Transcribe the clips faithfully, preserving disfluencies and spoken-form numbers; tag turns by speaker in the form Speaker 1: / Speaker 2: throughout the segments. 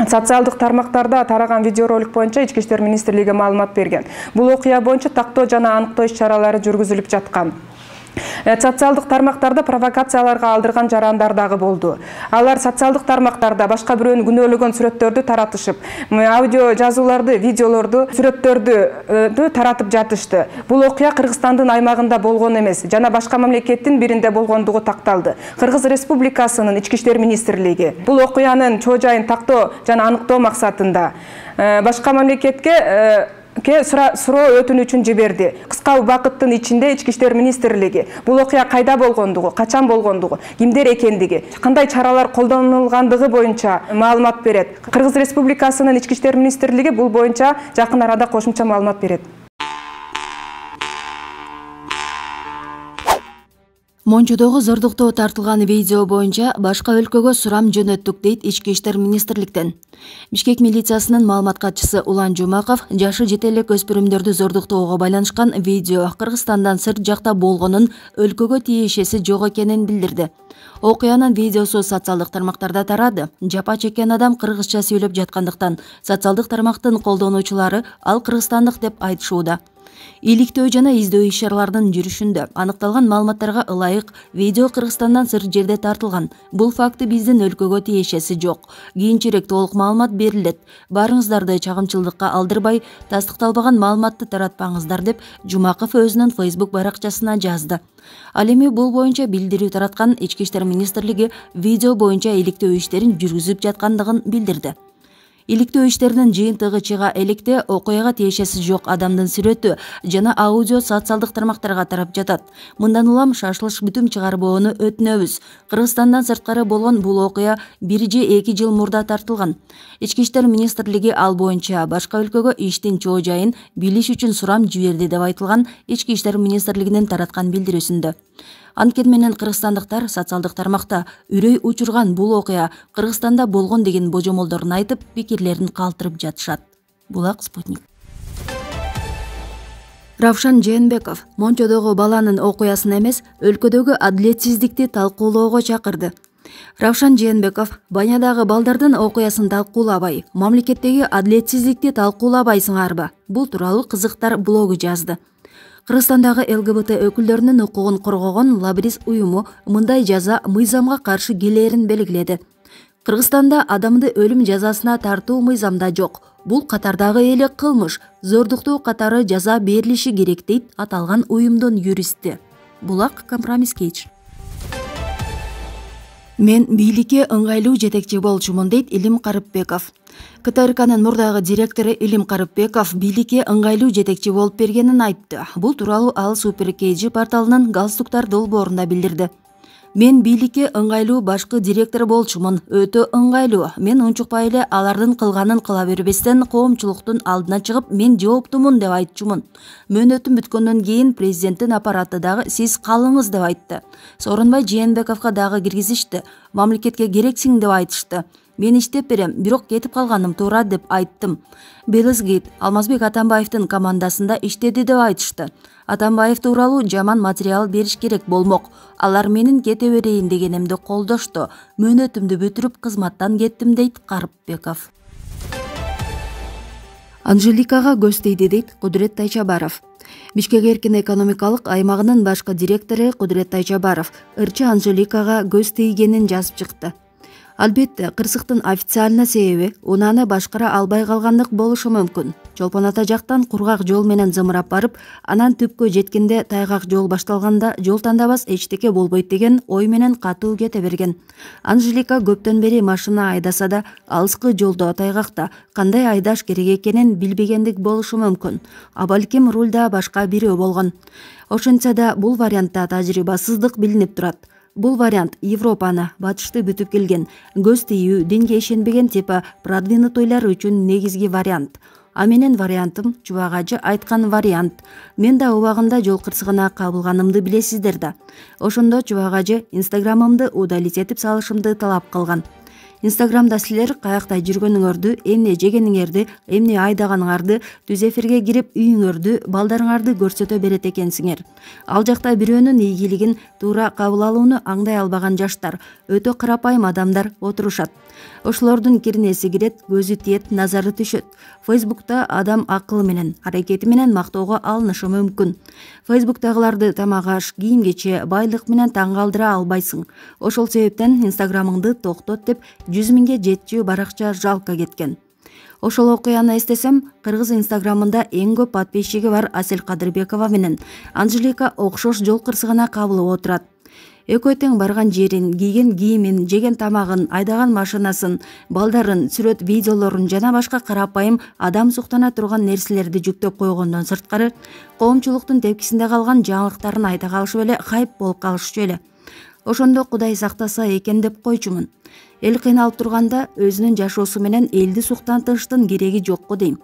Speaker 1: Социалдык тармактарда тараган видеоролик боюнча Ички иштер министрлиги маалымат берген. Бул окуя боюнча тактоо жана аныктоо иш-чаралары жүргүзүлүп жаткан. Социалдык тармактарда провокацияларга алдырган жарандар дагы болду. Алар социалдык тармактарда башка бирөөнү күнөөлөгөн сүрөттөрдү таратышып, аудио жазууларды, видеолорду, сүрөттөрдү таратып жатышты. Бул окуя Кыргызстандын аймагында болгон эмес, жана башка мамлекеттин биринде болгондугу такталды. Кыргыз Республикасынын Ички иштер министрлиги бул окуянын чоо жайын тактоо жана аныктоо максатында башка мамлекетке суроо өтүнүчүн жиберди. Кыска убакыттын ичинде Ички иштер министрлиги бул окуя кайда болгондугу, качан болгондугу, кимдер экендиги, кандай чаралар колдонулгандыгы боюнча маалымат берет. Кыргыз Республикасынын Ички иштер министрлиги бул боюнча жакын арада кошумча маалымат берет.
Speaker 2: Мончодогу зордуктоо тартылган видео боюнча башка өлкөгө сурам жөнөттүк дейт Ички иштер министрликтен. Бишкек милициясынын маалымат катчысы Улан Жумаков жашы жете элек өспүрүмдөрдү зордуктоого байланышкан видео Кыргызстандан сырт жакта болгонун, өлкөгө тиешеси жок экенин билдирди. Окуянын видеосу социалдык тармактарда тарады. Жапа чеккен адам кыргызча сүйлөп жаткандыктан социалдык тармактын колдонуучулары ал кыргызстандык деп айтышууда. Иликтөө жана издөө иш-чараларынын жүрүшүндө аныкталган маалыматтарга ылайык видео Кыргызстандан сырт жерде тартылган. Бул факты биздин өлкөгө тиешеси жок. Кийинчерээк толук маалымат берилет. Барыңыздарды чагымчылдыкка алдырбай, тастыкталбаган маалыматты таратпаңыздар деп Жумаков өзүнүн Facebook баракчасына жазды. Ал эми бул боюнча билдирүү тараткан Ички иштер министрлиги видео боюнча иликтөө иштерин жүргүзүп жаткандыгын билдирди. Иликтөө иштеринин жыйынтыгы чыга электе окуяга тиешеси жок адамдын сүрөтү жана аудио социалдык тармактарга тарап жатат. Мындан улам шашылыш бүтүм чыгарбоону өтүнөбүз. Кыргызстандан сырткары болгон бул окуя бир же эки жыл мурда тартылган. Ички иштер министрлиги ал боюнча башка өлкөгө иштин чоо жайын билиш үчүн сурам жиберди деп айтылган Ички иштер министрлигинин тараткан билдирүүсүндө. Анткени менен кыргызстандыктар социалдык тармакта үрөй учурган бул окуя Кыргызстанда болгон деген божомолдорун айтып, пикирлерин калтырып жатышат. Булак Спутник. Равшан Жээнбеков Мончодогу баланын окуясын эмес, өлкөдөгү адилетсиздикти талкуулоого чакырды. Равшан Жээнбеков Банядагы балдардын окуясын талкуулабай, мамлекеттеги адилетсиздикти талкуулабайсыңарбы? Бул тууралуу Кызыктар блогу жазды. Кыргызстандагы ЛГБТ өкүлдөрүнүн укугун коргогон Лабрис уюму мындай жаза мыйзамга каршы келээрин белгиледи. Кыргызстанда адамды өлүм жазасына тартуу мыйзамда жок. Бул катардагы эле кылмыш, зордуктоо катары жаза берилиши керек дейт аталган уюмдун юристи. Булак компромисс кейч. Мен бийликке ыңгайлуу жетекчи болчумун дейт Илим Карыпбеков. КТРКнын мурдагы директору Илим Карыпбеков бийликке ыңгайлуу жетекчи болуп бергенин айтты. Бул тууралуу ал Супер Кейджи порталынын галстуктар долбоорунда билдирди. Мен бийликке ыңгайлуу башкы директор болчумун, өтө ыңгайлуу. Мен унчукпай эле алардын кылганын кыла бербестен коомчулуктун алдына чыгып, мен жооптумун деп айтчумун. Мөөнөтүм бүткөндөн кийин президенттин аппараты дагы сиз калыңыз деп айтты. Сооронбай Жээнбековго дагы киргизишти. Мамлекетке керексиң деп айтышты. Мен иштеп берем, бирок кетип калганым туура деп айттым. Белизгейт Алмазбек Атамбаевдин командасында иштеди деп айтышты. Атамбаев тууралуу жаман материал бериш керек болмок. Алар менин кете берейин дегенимди колдошту. Мөөнөтүмдү бүтүрүп кызматтан кеттим дейт Карыпбеков. Анжеликага көз тийди дейт Кудурет Тайчабаров. Бишкек эркин экономикалык аймагынын башкы директору Кудурет Тайчабаров ырчы Анжеликага көз тийгенин жазып чыкты. Албетте, кырсыктын официально себеби унааны башкара албай калгандык болушу мүмкүн. Чолпон ата жактан кургак жол менен зымырап барып, анан түпкө жеткенде тайгак жол башталганда жол тандабас эчтеке болбойт деген ой менен катуу кете берген. Анжелика көптөн бери машина айдаса да, алыскы жолдо тайгакта кандай айдаш керек экенин билбегендик болушу мүмкүн. А балким рулда башка бирөө болгон. Ошентсе да бул вариантта тажрыйбасыздык билинип турат. Бул вариант Европаны, батышты бүтүп келген, көз тийүү, динге ишенбеген типа продвинутуйлар үчүн негизги вариант. А менин вариантым Чубагажы айткан вариант. Мен да убагында жол кырсыгына кабылганымды билесиздер да. Ошондо Чубагажы инстаграмымды удалить этип салышымды талап кылган. Инстаграмда силер каякта жүргөнүңөрдү, эмне жегениңерди, эмне айдаганыңарды, түз эфирге кирип үйүңөрдү, балдарыңарды көрсөтө берет экенсиңер. Ал жакта бирөөнүн ийгилигин туура кабыл алууну аңдай албаган жаштар, өтө карапайым адамдар отурушат. Ошолордун кирнеси кирет, көзү тиет, назары түшөт. Фейсбукта адам акылы менен, аракети менен мактоого алынышы мүмкүн. Фейсбуктагыларды тамак аш, кийим-кече, байлык менен таң калтыра албайсың. Ошол себептен Инстаграмыңды токтот деп жүз миңге жетчү баракча жалка кеткен. Ошол окуяны эстесем, кыргыз Инстаграмында эң көп подписчиги бар Асель Кадырбекова менен Анжелика окшош жол кырсыгына кабылып отурат. Экөө тең барган жерин, кийген кийимин, жеген тамагын, айдаган машинасын, балдарын, сүрөт видеолорун жана башка карапайым адам суктана турган нерселерди жүктөп койгондон сырткары, коомчулуктун тепкисинде калган жаңылыктарын айта калышып эле хайп болуп калышчу эле. Ошондо Кудай сактаса экен деп койчумун. Эл кыйналып турганда өзүнүн жашоосу менен элди суктантыштын кереги жокко дейм.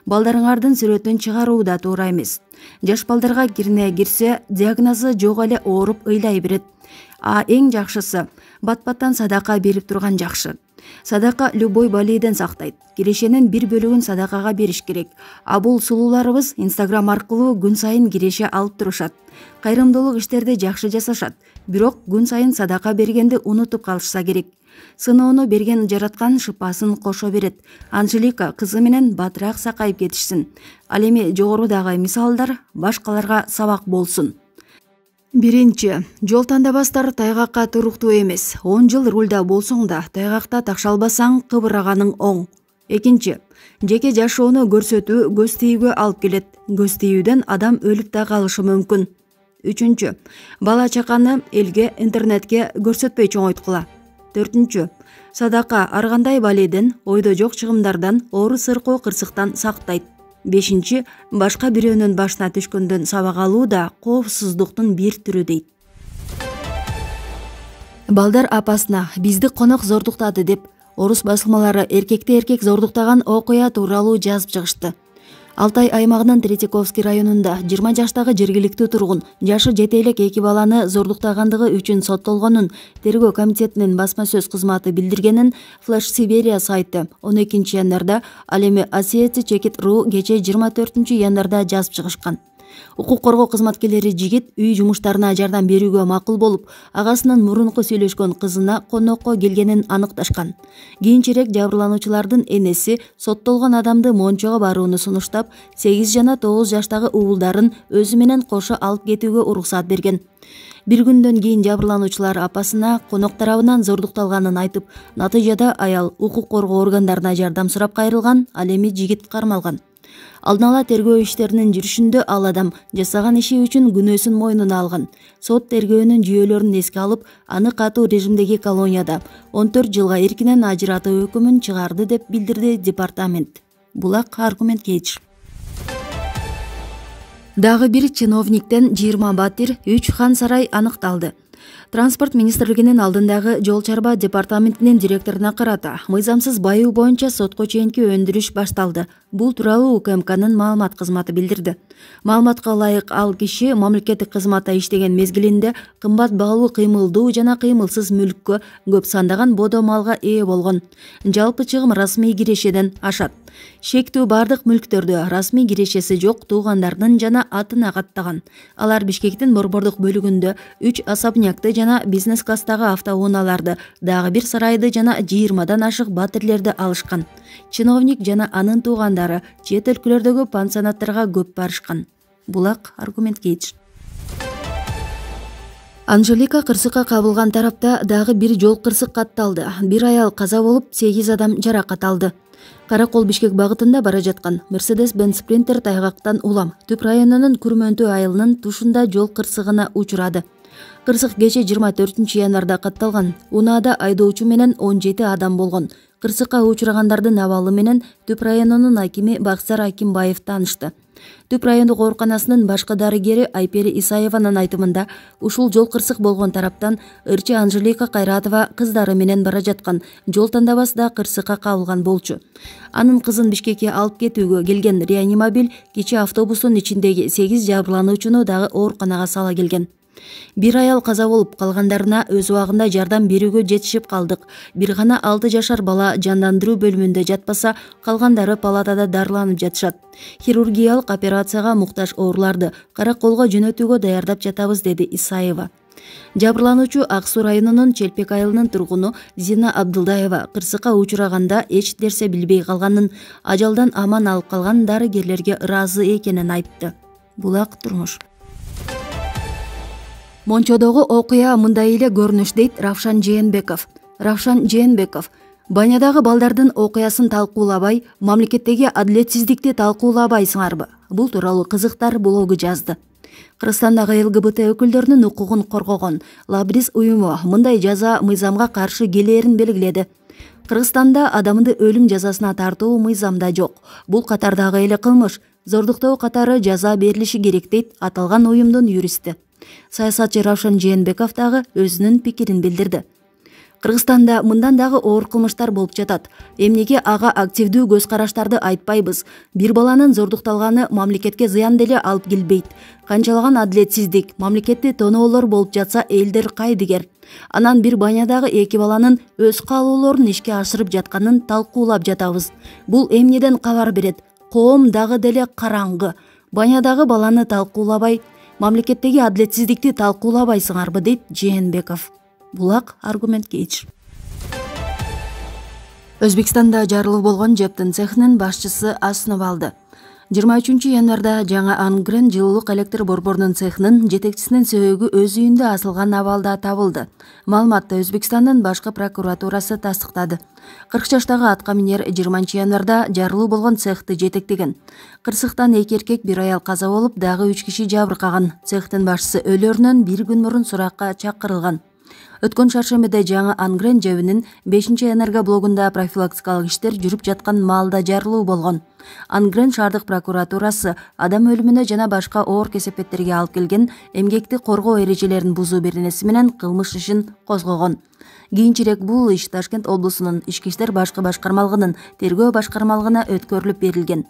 Speaker 2: Балдарыңардын сүрөтүн чыгаруу да туура эмес. Жаш балдарга кирне кирсе, диагнозу жок эле ооруп ыйлай берет. А эң жакшысы бат-баттан садака берип турган жакшы. Садака любой болейден сактайт. Кирешенин бир бөлүгүн садакага бериш керек. А бул сулууларыбыз Инстаграм аркылуу күн сайын киреше алып турушат. Кайрымдуулук иштерди жакшы жасашат. Бирок күн сайын садака бергенди унутуп калышса керек. Сыноону берген жараткан шыпасын кошо берет. Анжелика кызы менен батыраак сакайып кетишсин. Ал эми жогорудагы мисалдар башкаларга сабак болсун. Биринчи, жол тандабастар тайгакка туруктуу эмес. он жыл рулда болсоң да, тайгакта такшалбасаң кыбыраганың оң. Экинчи, жеке жашоону көрсөтүү көз тийүүгө алып келет. Көз тийүүдөн адам өлүп да калышы мүмкүн. Үчүнчү, бала чаканы элге, интернетке көрсөтпөй чоңойткула. Төртүнчү, садака ар кандай баледен, ойдо жок чыгымдардан, оору сыркоо кырсыктан сактайт. Бешинчи, башка бирөөнүн башына түшкөндөн сабак алуу да коопсуздуктун бир түрү дейт. Балдар апасына бизди конок зордуктады деп орус басылмалары эркекти эркек зордуктаган окуя тууралуу жазып чыгышты. Алтай аймагынын Третьяковский районунда жыйырма жаштагы жергиликтүү тургун жашы жете элек эки баланы зордуктагандыгы үчүн соттолгонун тергөө комитетинин басма сөз кызматы билдиргенин Flash Siberia сайты он экинчи январда, ал эми Осетия Чекит ру кече жыйырма төртүнчү январда жазып чыгышкан. Укук коргоо кызматкерлери жигит үй жумуштарына жардам берүүгө макул болуп, агасынын мурунку сүйлөшкөн кызына конокко келгенин аныкташкан. Кийинчерээк жабырлануучулардын энеси соттолгон адамды мончого барууну сунуштап, сегиз жана тогуз жаштагы уулдарын өзү менен кошо алып кетүүгө уруксат берген. Бир күндөн кийин жабырлануучулар апасына конок тарабынан зордукталганын айтып, натыйжада аял укук коргоо органдарына жардам сурап кайрылган, ал эми жигит кармалган. Алдын ала тергөө иштеринин жүрүшүндө ал адам жасаган иши үчүн күнөөсүн мойнуна алган. Сот тергөөнүн жүйөлөрүн эске алып, аны катуу режимдеги колонияда он төрт жылга эркинен ажыратуу өкүмүн чыгарды деп билдирди департамент. Булак аргумент кейдж. Дагы бир чиновниктен жыйырма батир, үч хан сарай аныкталды. Транспорт министрлигинин алдындагы жол чарба департаментинин директоруна карата мыйзамсыз байуу боюнча сотко чейинки өндүрүш башталды. Бул тууралуу У К М К'нын маалымат кызматы билдирди. Маалыматка ылайык, ал киши мамлекеттик кызматта иштеген мезгилинде кымбат баалуу кыймылдуу жана кыймылсыз мүлккө, көп сандаган бодо малга ээ болгон. Жалпы чыгым расмий кирешеден ашат. Шектүү бардык мүлктөрдү расмий кирешеси жок туугандарынын жана атына каттаган. Алар Бишкектин борбордук бөлүгүндө үч особнякты жана бизнес класстагы автоунааларды, дагы бир сарайды жана жыйырмадан ашык батирлерди алышкан. Чиновник жана анын туугандары чет өлкөлөрдөгү пансионаттарга көп барышкан. Булак аргумент кейдж. Анжелика кырсыкка кабылган тарапта дагы бир жол кырсык катталды. Бир аял каза болуп, сегиз адам жаракат алды. Каракол Бишкек багытында бара жаткан Mercedes-Benz Sprinter тайгактан улам Түп районунун Күрмөнтүү айылынын тушунда жол кырсыгына учурады. Кырсык кече жыйырма төртүнчү январда катталган. Унаада айдоочу менен он жети адам болгон. Кырсыкка учурагандардын абалы менен Түп районунун акими Баксар Акимбаев таанышты. Түп райондук ооруканасынын башкы дарыгери Айпери Исаеванын айтымында, ушул жол кырсык болгон тараптан ырчы Анжелика Кайратова кыздары менен бара жаткан жол тандабасында кырсыкка кабылган болчу. Анын кызын Бишкекке алып кетүүгө келген реанимобиль кечээ автобустун ичиндеги сегиз жабырлануучуну дагы ооруканага сала келген. Бир аял каза болуп, калгандарына өз убагында жардам берүүгө жетишип калдык. Бир гана алты жашар бала жандандыруу бөлүмүндө жатпаса, калгандары палатада дарыланып жатышат. Хирургиялык операцияга муктаж ооруларды караколго жөнөтүүгө даярдап жатабыз, деди Исаева. Жабырлануучу Ак Суу районунун Челпек айылынын тургуну Зина Абдылдаева кырсыкка учураганда эч нерсе билбей калганын, ажалдан аман алып калган дарыгерлерге ыраазы экенин айтты. Булак турмуш. Мончодогу окуя мындай эле көрүнүш, дейт Равшан Жээнбеков. Равшан Жээнбеков Банядагы балдардын окуясын талкуулабай, мамлекеттеги адилетсиздикти талкуулабайсыңарбы? Бул тууралуу кызыктар блогу жазды. Кыргызстандагы эл гэ бэ тэ өкүлдөрүнүн укугун коргогон Лабрис уюму мындай жаза мыйзамга каршы келээрин белгиледи. Кыргызстанда адамды өлүм жазасына тартуу мыйзамда жок. Бул катардагы эле кылмыш. Зордуктоо катары жаза берилиши керек, дейт аталган уюмдун юристи. Саясатчы Равшан Жээнбеков дагы өзүнүн пикирин билдирди. Кыргызстанда мындан дагы оор кылмыштар болуп жатат. Эмнеге ага активдүү көз караштарды айтпайбыз? Бир баланын зордукталганы мамлекетке зыян деле алып келбейт. Канчалаган адилетсиздик, мамлекетти тоноолор болуп жатса элдер кайдыгер. Анан бир банядагы эки баланын өз каалоолорун ишке ашырып жатканын талкуулап жатабыз. Бул эмнеден кабар берет? Коом дагы деле караңгы. Банядагы баланы талкуулабай, мамлекеттеги адилетсиздикти талкуулабайсыңарбы, дейт Жээнбеков. Булак аргумент кейч. Өзбекстанда жарылуу болгон жептин цехинин башчысы асынып алды. жыйырма үчүнчү январда жаңы Ангрен жылуулук электр борборунун цехинин жетекчисинин сөөгү өз үйүндө асылган абалда табылды. Маалыматты Өзбекстандын башкы прокуратурасы тастыктады. кырк жаштагы атка минер жыйырманчы январда жарылуу болгон цехти жетектеген. Кырсыктан эки эркек, бир аял каза болуп, дагы үч киши жабыркаган. Цехтин башчысы өлөрүнөн бир күн мурун суракка чакырылган. Өткөн шаршембиде жаңы Ангрен жебинин бешинчи энергоблогунда профилактикалык иштер жүрүп жаткан маалда жарылуу болгон. Ангрен шаардык прокуратурасы адам өлүмүнө жана башка оор кесепеттерге алып келген эмгекти коргоо эрежелерин бузуу беренеси менен кылмыш ишин козгогон. Кийинчерээк бул иш Ташкент облусунун ички иштер башкы башкармалыгынын тергөө башкармалыгына өткөрүлүп берилген.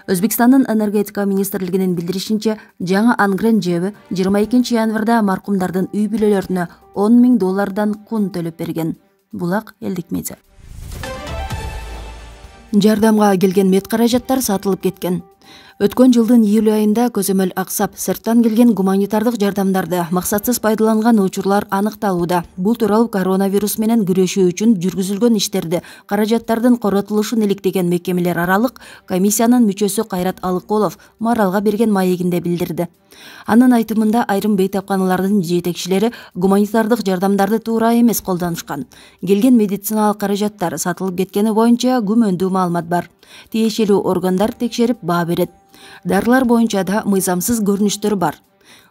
Speaker 2: Өзбекстандын энергетика министрлигинин билдиришинче, жаңы Ангрен жеби жыйырма экинчи январда маркумдардын үй бүлөлөрүнө он миң доллардан кун төлөп берген. Булак элдик медиа. Жардамга келген мед каражаттар сатылып кеткен. Өткөн жылдын июль айында көзөмөл аксап, сырттан келген гуманитардык жардамдарды максатсыз пайдаланган учурлар аныкталууда. Бул тууралуу коронавирус менен күрөшүү үчүн жүргүзүлгөн иштерди, каражаттардын коротулушун иликтеген мекемелер аралык комиссиянын мүчөсү Кайрат Алыкулов Маралга берген маегинде билдирди. Анын айтымында айрым бейтапканалардын жетекчилери гуманитардык жардамдарды туура эмес колдонушкан. Келген медициналык каражаттар сатылып кеткени боюнча күмөндүү маалымат бар. Тиешелүү органдар текшерип баа берет. Дарылар боюнча да мыйзамсыз көрүнүштөр бар.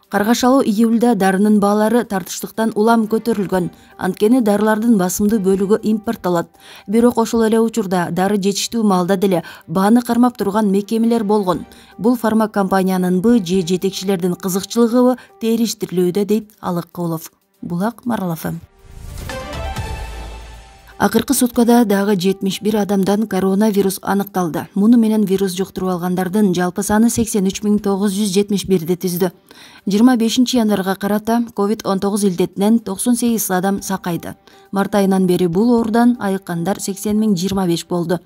Speaker 2: Каргашалуу июлда дарынын баалары тартыштыктан улам көтөрүлгөн. Анткени дарылардын басымдуу бөлүгү импорттолот. Бирок ошол эле учурда дары жетиштүү маалда деле бааны кармап турган мекемелер болгон. Бул фармакомпаниянынбы же жетекчилердин кызыкчылыгыбы териштирилүүдө, дейт Алыкулов. Булак Марал эф эм. Акыркы суткада дагы жетимиш бир адамдан коронавирус аныкталды. Муну менен вирус жуктуруп алгандардын жалпы саны сексен үч миң тогуз жүз жетимиш бирди түздү. жыйырма бешинчи январга карата ковид он тогуз илдетинен токсон сегиз адам сакайды. Март айынан бери бул оорудан айыккандар сексен миң жыйырма беш болду.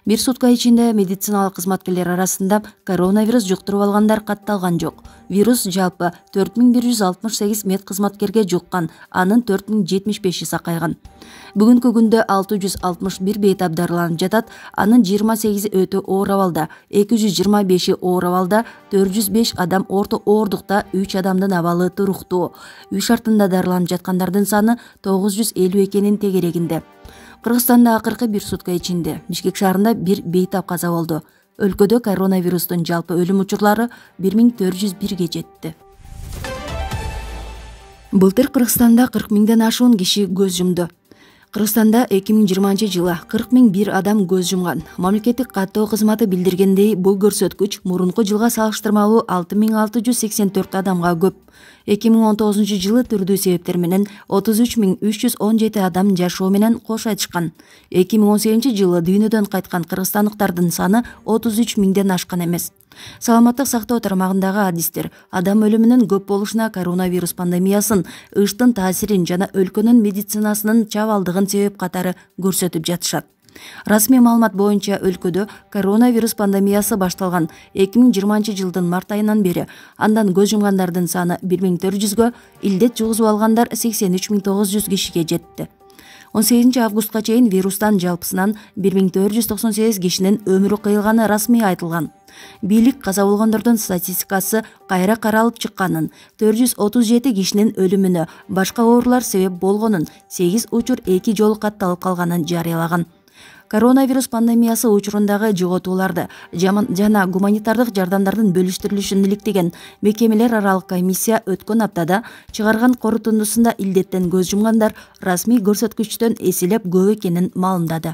Speaker 2: Бир сутка ичинде медициналык кызматкерлер арасында коронавирус жуктуруп алгандар катталган жок. Вирус жалпы төрт миң бир жүз алтымыш сегиз мед кызматкерге жуккан, анын төрт миң жетимиш беши сакайган. Бүгүнкү күндө алты жүз алтымыш бир бейтап дарыланып жатат, анын жыйырма сегизи өтө оор абалда, эки жүз жыйырма беши оор абалда, төрт жүз беш адам орто оорлукта, үч адамдын абалы туруктуу. Үй шартында дарыланып жаткандардын саны тогуз жүз элүү экенин тегерегинде. Кыргызстанда акыркы бир сутка ичинде Бишкек шаарында бир бейтап каза болду. Өлкөдө коронавирустун жалпы өлүм учурлары бир миң төрт жүз бирге жетти. Былтыр Кыргызстанда кырк миңден ашуун киши көз жумду. Кыргызстанда эки миң жыйырманчы жылы кырк миң бир адам көз жумган. Мамлекеттик каттоо кызматы билдиргендей, бул көрсөткүч мурунку жылга салыштырмалуу алты миң алты жүз сексен төрт адамга көп. эки миң он тогузунчу жылы түрдүү себептер менен отуз үч миң үч жүз он жети адам жашоо менен кош айтышкан. эки миң он сегизинчи жылы дүйнөдөн кайткан кыргызстандыктардын саны отуз үч миңден ашкан эмес. Саламаттык сактоо тармагындагы адистер адам өлүмүнүн көп болушуна коронавирус пандемиясын, ыштын таасирин жана өлкөнүн медицинасынын чабалдыгын себеп катары көрсөтүп жатышат. Расмий маалымат боюнча өлкөдө коронавирус пандемиясы башталган эки миң жыйырманчы жылдын март айынан бери андан көз жумгандардын саны бир миң төрт жүзгө, илдет жугузуп алгандар сексен үч миң тогуз жүз кишиге жетти. он сегизинчи августка чейин вирустан жалпысынан бир миң төрт жүз токсон сегиз кишинин өмүрү кыйылганы расмий айтылган. Бийлик каза болгондордун статистикасы кайра каралып чыкканын, төрт жүз отуз жети кишинин өлүмүнө башка оорулар себеп болгонун, сегиз учур эки жолу катталып калганын жарыялаган. Коронавирус пандемиясы учурундагы жоготууларды жана гуманитардык жардамдардын бөлүштүрүлүшүн иликтеген мекемелер аралык комиссия өткөн аптада чыгарган корутундусунда илдеттен көз жумгандар расмий көрсөткүчтөн эселеп көп экенин маалымдады.